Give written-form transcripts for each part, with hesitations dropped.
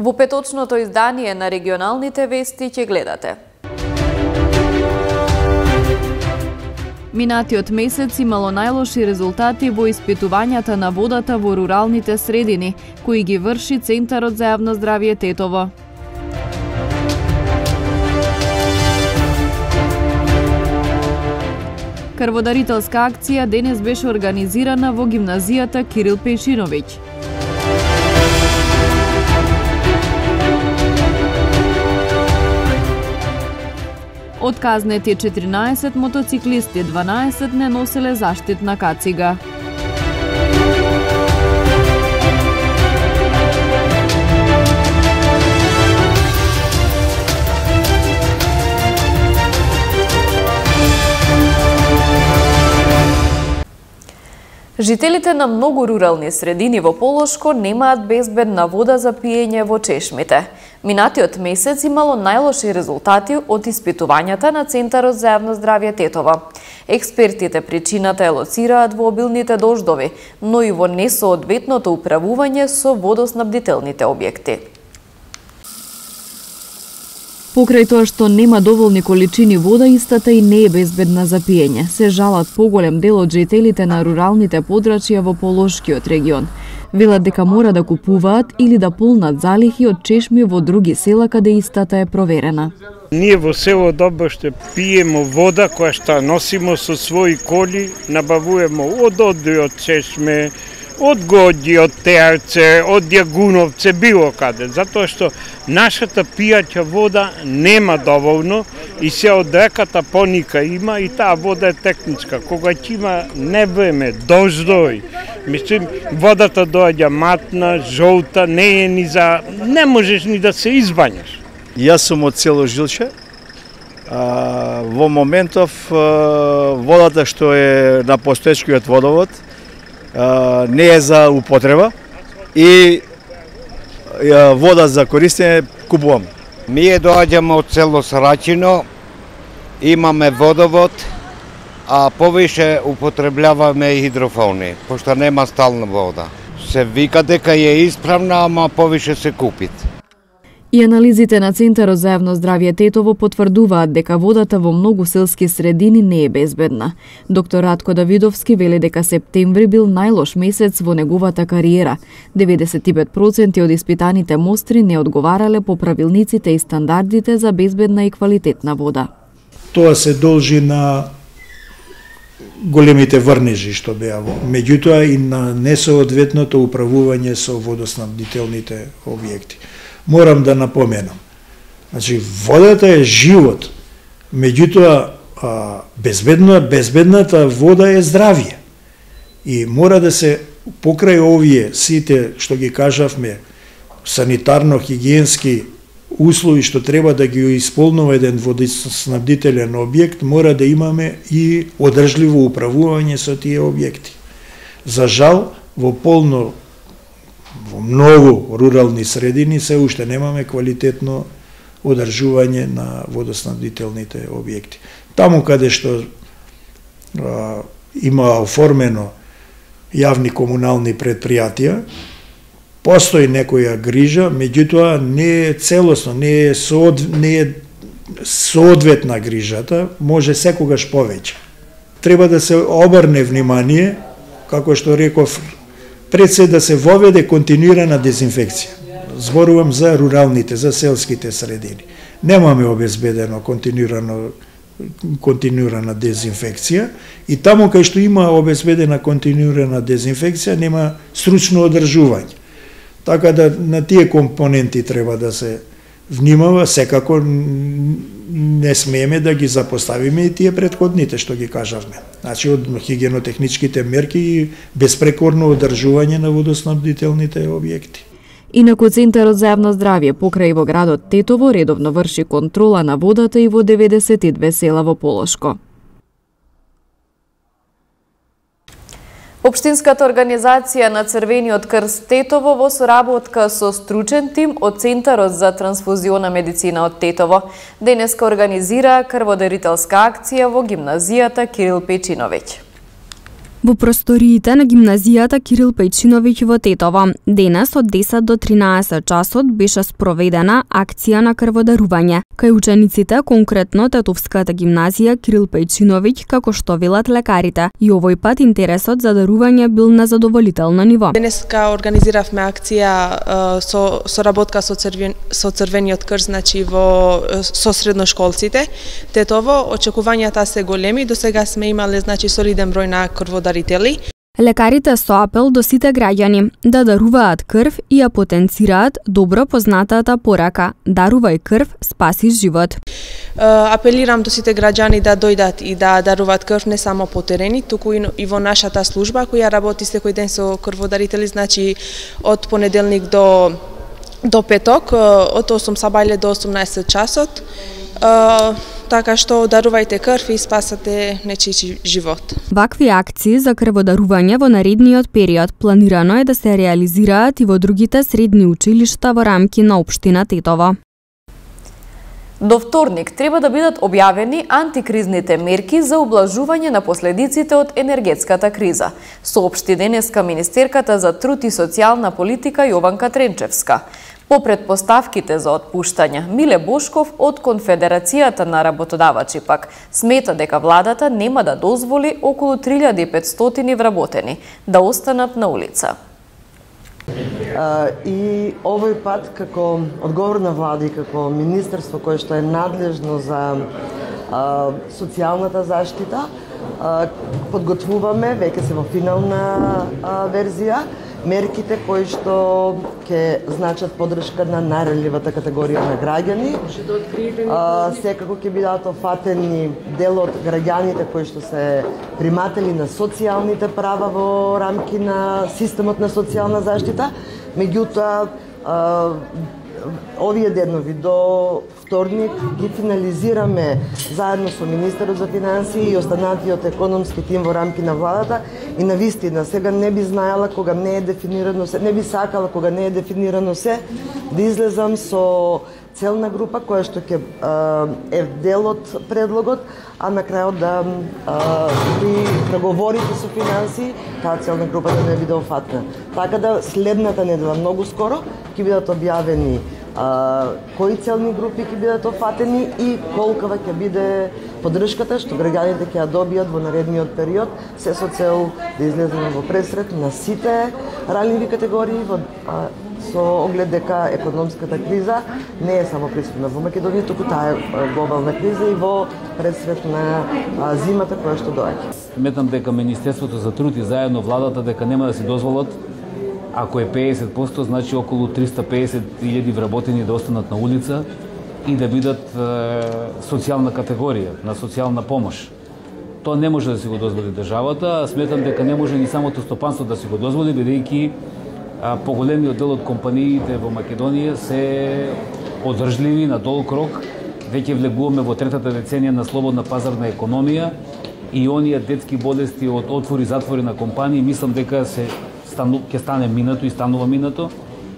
Во петочното издание на регионалните вести ќе гледате. Минатиот месец имало најлоши резултати во испитувањата на водата во руралните средини, кои ги врши Центарот за јавно здравје Тетово. Крводарителска акција денес беше организирана во гимназијата Кирил Пејшиновиќ. Отказнети 14 мотоциклисти, 12 не носеле заштитна кацига. Жителите на многу рурални средини во Полошко немаат безбедна вода за пиење во чешмите. Минатиот месец имало најлоши резултати од испитувањата на Центарот за јавно здравје Тетово. Експертите причината ја лоцираат во обилните дождови, но и во несоодветното управување со водоснабдителните објекти. Покрај тоа што нема доволни количини вода, истата и не е безбедна за пиење. Се жалат поголем дел од жителите на руралните подрачја во Полошкиот регион. Велат дека мора да купуваат или да полнат залихи од чешми во други села каде истата е проверена. Ние во село Добоште пиемо вода која што носимо со своји коли, набавуваме од Одри, од чешме, од Годи, од Теарце, од Јагуновце, било каде, затоа што нашата пијаќа вода нема доволно и се од реката поника има и таа вода е техничка. Кога ќе има невреме, дождови, мислим, водата доаѓа матна, жолта, не е ни за... не можеш ни да се избањаш. Јас сум од село Жилче. Во моментов водата што е на постоечкиот водовод не е за употреба и вода за користење купувам. Ние доаѓаме од село Срачино, имаме водовод, а повише употребljavаме хидрофони, пошто нема стална вода. Се вика дека е исправна, ама повише се купит. И анализите на Центарот за јавно здравје Тетово потврдуваат дека водата во многу селски средини не е безбедна. Доктор Радко Давидовски вели дека септември бил најлош месец во неговата кариера. 95% од испитаните мостри не одговарале по правилниците и стандардите за безбедна и квалитетна вода. Тоа се должи на големите врнежи што беа, меѓутоа и на несоодветното управување со водоснабдителните објекти. Морам да напоменам, значи водата е живот, меѓутоа безбедната вода е здравје. И мора да се покрај овие сите што ги кажавме, санитарно-хигиенски услови што треба да ги исполнува еден водоснабдителен објект, мора да имаме и одржливо управување со тие објекти. За жал, во многу рурални средини се уште немаме квалитетно одржување на водоснабдителните објекти. Таму каде што има оформено јавни комунални предпријатија, постои некоја грижа, меѓутоа не е целосно, не е соодветна грижата, може секогаш повеќе. Треба да се обрне внимание, како што реков, пред се да се воведе континуирана дезинфекција. Зборувам за руралните, за селските средини. Немаме обезбедено континуирана дезинфекција и таму кај што има обезбедена континуирана дезинфекција нема стручно одржување. Така да на тие компоненти треба да се внимава, секако не смееме да ги запоставиме и тие претходните што ги кажавме. Значи од хигиенотехничките мерки и безпрекорно одржување на водоснабдителните објекти. Инаку Центарот за јавно здравје покрај во градот Тетово редовно врши контрола на водата и во 92 села во Полошко. Општинската организација на Црвениот крст Тетово во соработка со стручен тим од Центарот за трансфузиона медицина од Тетово денеска организира крводарителска акција во гимназијата Кирил Пејшиновиќ. Во просториите на гимназијата Кирил Пејчиновиќ во Тетово, денес од 10 до 13 часот беше спроведена акција на крводарување кај учениците, конкретно Тетовската гимназија Кирил Пејчиновиќ, како што велат лекарите. И овој пат интересот за дарување бил на задоволително ниво. Денеска организиравме акција со соработка со Црвениот крст, значи со средношколците. Тетово очекувањата се големи, до сега сме имале значи солиден број на крводарители. Лекарите со апел до сите граѓани да даруваат крв и ја потенцираат добро познатата порака: дарувај крв, спаси живот. Апелирам до сите граѓани да дојдат и да даруваат крв не само по терени, туку и во нашата служба која работи секој ден со крводарители, значи од понеделник до петок, од 8 сабајле до 18 часот. Така што дарувајте крв и спасате нечiji живот. Вакви акции за крводарување во наредниот период планирано е да се реализираат и во другите средни училишта во рамки на општина Тетово. До вторник треба да бидат објавени антикризните мерки за ублажување на последиците од енергетската криза, соопшти денеска министерката за труд и социјална политика Јованка Тренчевска. По предпоставките за отпуштање, Миле Бошков од Конфедерацијата на работодавачи пак смета дека владата нема да дозволи околу 3500 вработени да останат на улица. И овој пат како одговорна влада и како министерство кое што е надлежно за социјалната заштита, подготвуваме, веќе се во финална верзија, мерките кои што ќе значат поддршка на најранливата категорија на граѓани. Секако ќе бидат офатени дел од граѓаните кои што се приматели на социјалните права во рамки на системот на социјална заштита. Меѓутоа, овие денови до вторник ги финализираме заедно со министерот за финансии и останатиот економски тим во рамки на владата и навистина сега не би знаела кога не е дефинирано се, не би сакала кога не е дефинирано се, да излезам со целна група која што ќе е дел од предлогот, а на крајот да при преговорите со финансии таа целна група да не биде офатна. Така да следната недела многу скоро ќе бидат објавени кои целни групи ќе бидат офатени и колкава ќе биде поддршката што граѓаните ќе ја добијат во наредниот период, се со цел да излеземе во пресрет на сите ранливи категории со оглед дека економската криза не е само присутна во Македонија, туку таа е глобална криза и во пресрет на зимата која што доаѓа. Сметам дека Министерството за труд и заедно владата дека нема да се дозволат, ако е 50%, значи околу 350.000 вработени да останат на улица и да бидат социјална категорија, на социјална помош. Тоа не може да си го дозволи државата, сметам дека не може ни самото стопанство да си го дозволи, бидејќи поголемиот дел од компаниите во Македонија се одржливи на долг рок. Веќе влегуваме во третата деценија на слободна пазарна економија и оние детски болести од отвори-затвори на компании, мислам дека ќе стане минато и станува минато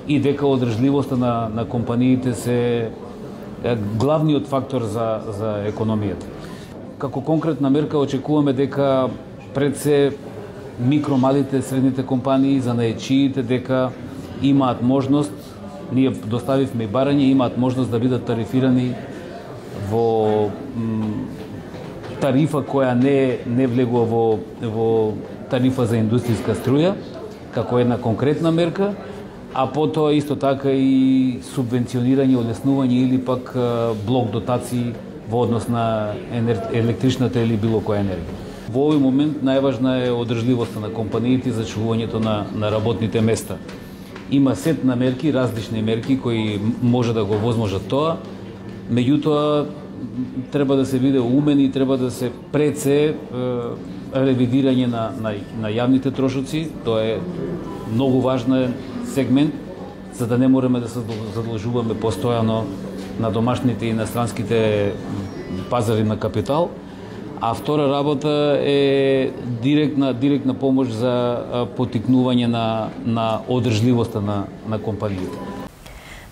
и дека одржливоста на компаниите се главниот фактор за економијата. Како конкретна мерка очекуваме дека пред се микро-малите, средните компании, за наечиите дека имаат можност, ние доставивме и барање, имаат можност да бидат тарифирани во тарифа која не влегува во тарифа за индустријска струја, како една конкретна мерка, а потоа исто така и субвенционирање, олеснување или пак блок дотации во однос на електричната или било која енергија. Во овој момент најважна е одржливоста на компаниите за чувувањето на работните места. Има сет на мерки, различни мерки кои може да го возможат тоа, меѓутоа треба да се биде умен и треба да се пред се ревидирање на јавните трошоци. Тоа е многу важен сегмент, за да не мораме да се задолжуваме постојано на домашните и иностранските пазари на капитал. А втора работа е директна помош за потикнување на одржливоста на компаниите.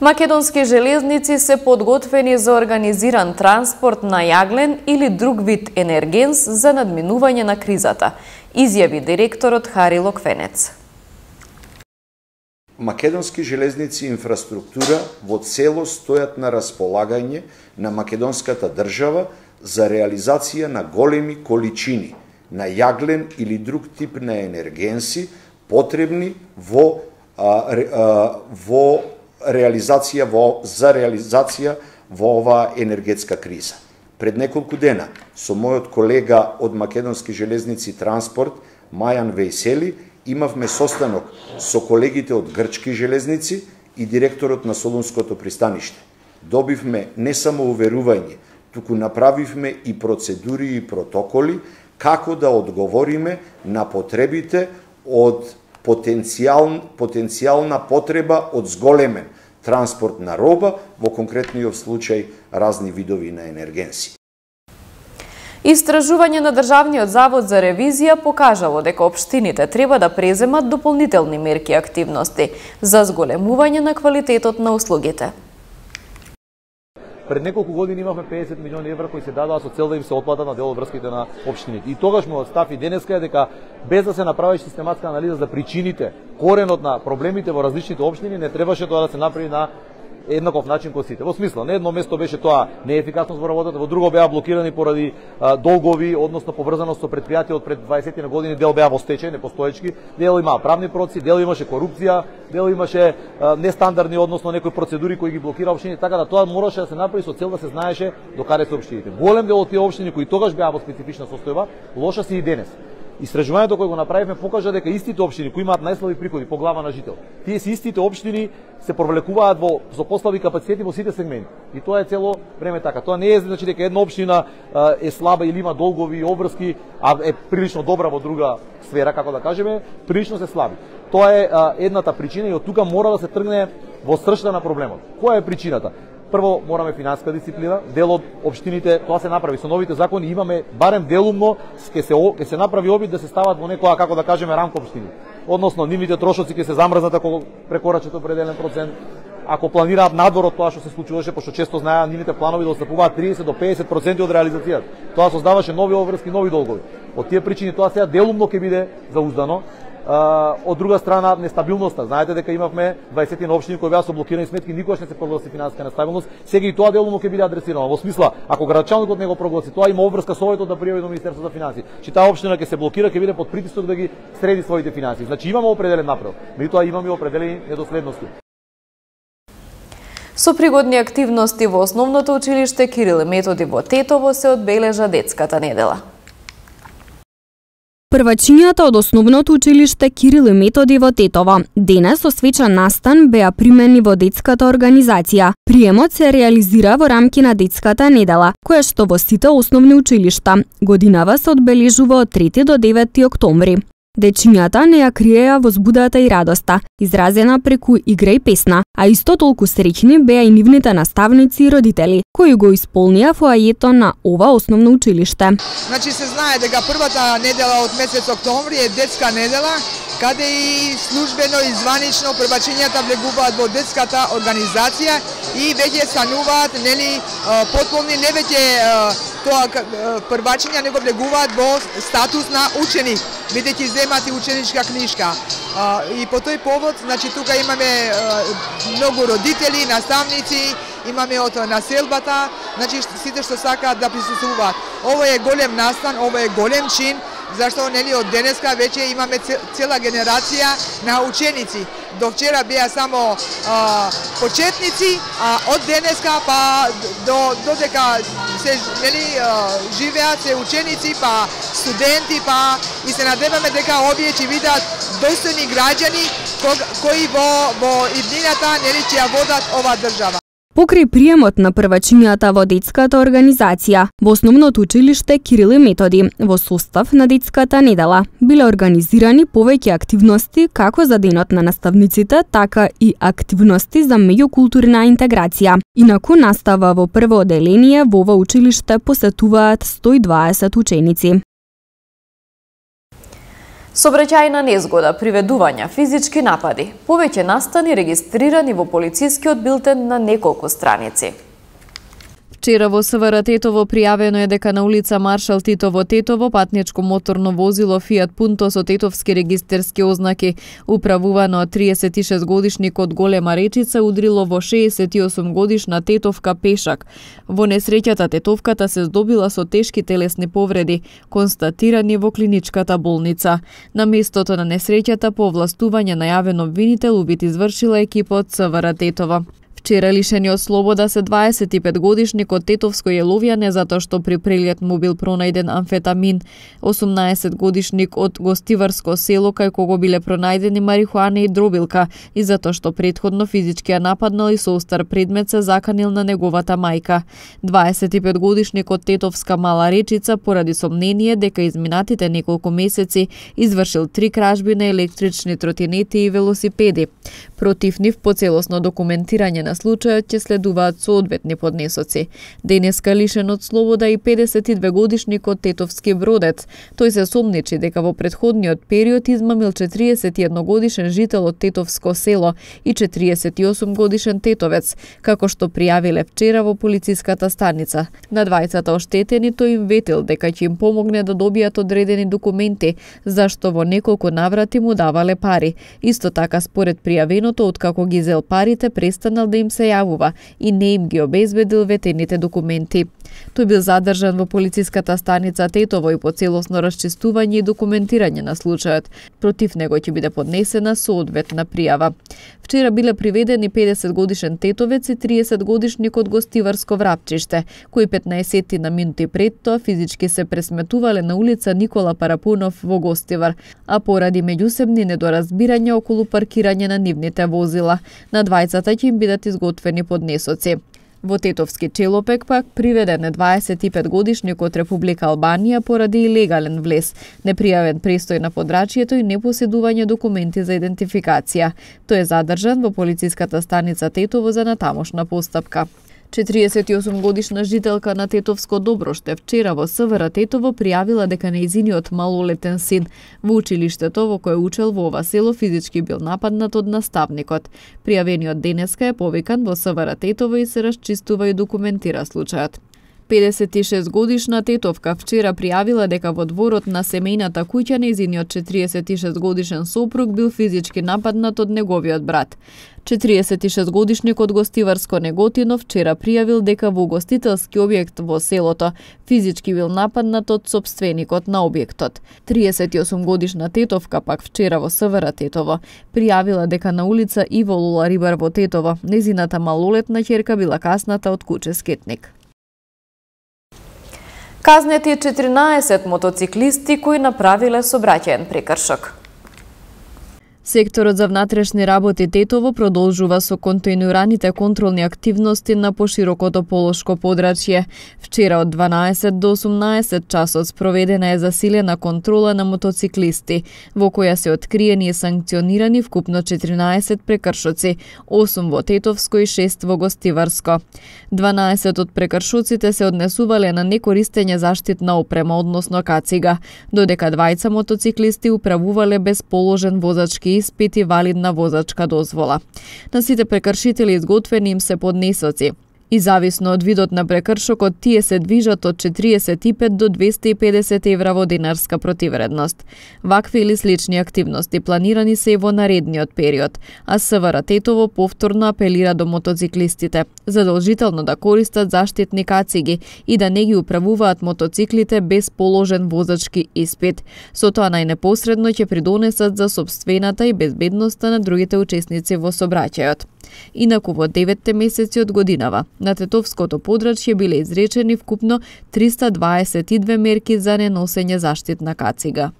Македонски железници се подготвени за организиран транспорт на јаглен или друг вид енергенс за надминување на кризата. изјави директорот Хари Локвенец. Македонски железници и инфраструктура во целост стојат на располагање на македонската држава за реализација на големи количини на јаглен или друг тип на енергенси потребни за реализација во оваа енергетска криза. Пред неколку дена со мојот колега од Македонски железници транспорт Мајан Вејсели имавме состанок со колегите од Грчки железници и директорот на Солунското пристаниште. Добивме не само уверување, туку направивме и процедури и протоколи како да одговориме на потребите од потенцијална потреба од зголемен транспорт на роба, во конкретниот случај разни видови на енергенси. Истражување на Државниот завод за ревизија покажало дека општините треба да преземат дополнителни мерки и активности за зголемување на квалитетот на услугите. Пред неколку години имавме 50 милиони евра кои се дадоа со цел да им се отплатат на дел од врските на општините. И тогаш мојот став и денеска е дека без да се направи систематска анализа за причините, коренот на проблемите во различните општини, не требаше тоа да се направи на еднаков начин кон сите. Во смисла, на едно место беше тоа неефикасност во работата, во друго беа блокирани поради долгови, односно поврзаност со претпријатија од пред 20 на години, дел беа во стечај, непостоечки, дел имаа правни процеси, дел имаше корупција, дел имаше нестандардни, односно некои процедури кои ги блокира општини, така да тоа мораше да се направи со цел да се знаеше до каде се општините. Голем дел од тие општини кои тогаш беа во специфична состојба, лоша се и денес. Истражувањето кое го направивме покажа дека истите општини кои имаат најслаби приходи по глава на жител, тие се истите општини се провлекуваат со послаби капацитети во сите сегменти. И тоа е цело време така. Тоа не е значи дека една општина е слаба или има долгови и обврски, а е прилично добра во друга сфера, како да кажеме, прилично се слаби. Тоа е едната причина и од тука мора да се тргне во сршта на проблемот. Која е причината? Прво, мораме финансиска дисциплина, дел од општините, тоа се направи со новите закони, имаме барем делумно, ќе се направи обид да се стават во некоја, како да кажеме, рамка општини. Односно, нивните трошоци ќе се замрзнат ако прекорачат определен процент, ако планираат надвор од тоа што се случуваше, пошто често знаеа нивните планови да отстапуваат 30 до 50% од реализацијата. Тоа создаваше нови обврски, нови долгови. Од тие причини тоа сега делумно ќе биде зауздано. Од друга страна, нестабилноста. Знаете дека имавме 20 на општини кои беа со блокирани сметки, никогаш не се прогласи финансиска нестабилност. Сега и тоа делумно ќе биде адресирано. Во смисла, ако градачалникот не го прогласи, тоа има обврска со да пријави до Министерството за финансии. Че таа општина ќе се блокира, ќе биде под притисок да ги среди своите финансии. Значи имаме определен напредок, меѓутоа имаме определени недоследности. Со пригодни активности во основното училиште Кирил и Методи во Тетово се одбележа детската недела. Првачињата од основното училиште Кирил и Методи во Тетово денес со свечен настан беа примени во детската организација. Приемот се реализира во рамки на детската недела, која што во сите основни училишта годинава се одбележува од 3 до 9 октомври. Дечињата не ја криеа возбудата и радоста, изразена преку игра и песна, а исто толку среќни беа и нивните наставници и родители, кои го исполнија фоајето на ова основно училиште. Значи се знае дека првата недела од месец октомври е детска недела, каде и службено и званично првачињата влегуваат во детската организација и веќе стануваат потполни, не веќе тоа првачиња него влегуваат во статус на ученик, бидејќи земат и ученичка книжка. И по тој повод, значи тука имаме многу родители, наставници, имаме од населбата, значи сите што сакаат да присуствуваат. Ова е голем настан, ова е голем чин, зашто од денеска веќе имаме цела генерација на ученици. До вчера беа само почетници, а од денеска па додека се живеат се ученици, па студенти, па и се надеваме дека овие ќе бидат достојни граѓани кои во иднината ќе ја водат ова држава. Покрај приемот на првачињата во детската организација, во основното училиште Кирил и Методи, во состав на детската недела, биле организирани повеќе активности како за денот на наставниците, така и активности за меѓукултурна интеграција. Инаку настава во прво оделение во ова училиште посетуваат 120 ученици. Сообраќајна незгода, приведувања, физички напади, повеќе настани регистрирани во полицискиот билтен на неколку страници. Вчера во СВР Тетово пријавено е дека на улица Маршал Тито во Тетово патничко моторно возило Фиат Пунто со тетовски регистерски ознаки, управувано од 36 годишник од Голема Речица, удрило во 68 годишна тетовка пешак. Во несреќата тетовката се здобила со тешки телесни повреди, констатирани во клиничката болница. На местото на несреќата по овластување најавен обвинител убит извршила екипа од СВР Тетово. Вчера лишени од слобода се 25 годишник од Тетовско Јеловјане затоа што при преглед му бил пронајден амфетамин, 18 годишник од Гостиварско село кај кого биле пронајдени марихуана и дробилка и затоа што претходно физички ја нападнал и со остар предмет се заканил на неговата мајка. 25 годишник од Тетовска Мала Речица поради сомнение дека изминатите неколку месеци извршил 3 кражби на електрични тротинети и велосипеди. Против нив по целосно документирање на случајот ќе следуваат соодветни поднесоци. Денеска лишен од слобода и 52 годишник од Тетовски Бродец. Тој се сомничи дека во претходниот период измамил 41 годишен жител од Тетовско село и 48 годишен тетовец, како што пријавиле вчера во полициската станица. На двајцата оштетени тој им ветил дека ќе им помогне да добијат одредени документи, зашто во неколку наврати му давале пари. Исто така според пријавеното, откако ги зел парите, престанал да им се јавува и не им ги обезбедил ветените документи. Тој бил задржан во полициската станица Тетово и по целосно расчистување и документирање на случајот. Против него ќе биде поднесена соодветна пријава. Вчера биле приведени 50 годишен тетовец и 30 годишник од Гостиварско Врапчиште, кои 15 на минути пред тоа физички се пресметувале на улица Никола Парапунов во Гостивар, а поради меѓусебни недоразбирања околу паркирање на нивните возила. На двајцата ќе им бидат изготвени поднесоци. Во Тетовски Челопек пак приведен е 25 годишник од Република Албанија поради илегален влез, непријавен престој на подрачјето и непоседување документи за идентификација. Тој е задржан во полициската станица Тетово за натамошна постапка. 48 годишна жителка на Тетовско Доброште вчера во СВР Тетово пријавила дека нејзиниот малолетен син во училиштето во кое учел во ова село физички бил нападнат од наставникот. Пријавениот денеска е повикан во СВР Тетово и се расчистува и документира случајот. 56 годишна тетовка вчера пријавила дека во дворот на семејната куќа нејзиниот 46 годишен сопруг бил физички нападнат од неговиот брат. 46 годишник од Гостиварско Неготино вчера пријавил дека во гостителски објект во селото физички бил нападнат од сопственикот на објектот. 38 годишна тетовка пак вчера во СВР Тетово пријавила дека на улица Иво Лула Рибар во Тетово незината малолетна ќерка била касната од куче скетник. Казнети 14 мотоциклисти кои направиле сообраќаен прекршок. Секторот за внатрешни работи Тетово продолжува со континуираните контролни активности на поширокото полошко подрачје. Вчера од 12 до 18 часот спроведена е засилена контрола на мотоциклисти, во која се откриени и санкционирани вкупно 14 прекршоци, 8 во Тетовско и 6 во Гостиварско. 12 од прекршоците се однесувале на некористење заштитна опрема, односно кацига, додека двајца мотоциклисти управувале без положен возачки испит и валидна возачка дозвола. На сите прекршители изготвени им се поднесоци. И зависно од видот на прекршокот, тие се движат од 45 до 250 евра во динарска противредност. Вакви или слични активности планирани се и во наредниот период, а СВР Тетово повторно апелира до мотоциклистите задолжително да користат заштитни кациги и да не ги управуваат мотоциклите без положен возачки испит. Со тоа најнепосредно ќе придонесат за сопствената и безбедноста на другите учесници во сообраќајот. Инаку во 9 месеци од годинава на Тетовското подрачје биле изречени вкупно 322 мерки за неносење заштитна кацига.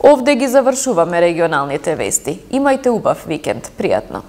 Овде ги завршуваме регионалните вести. Имајте убав викенд. Пријатно.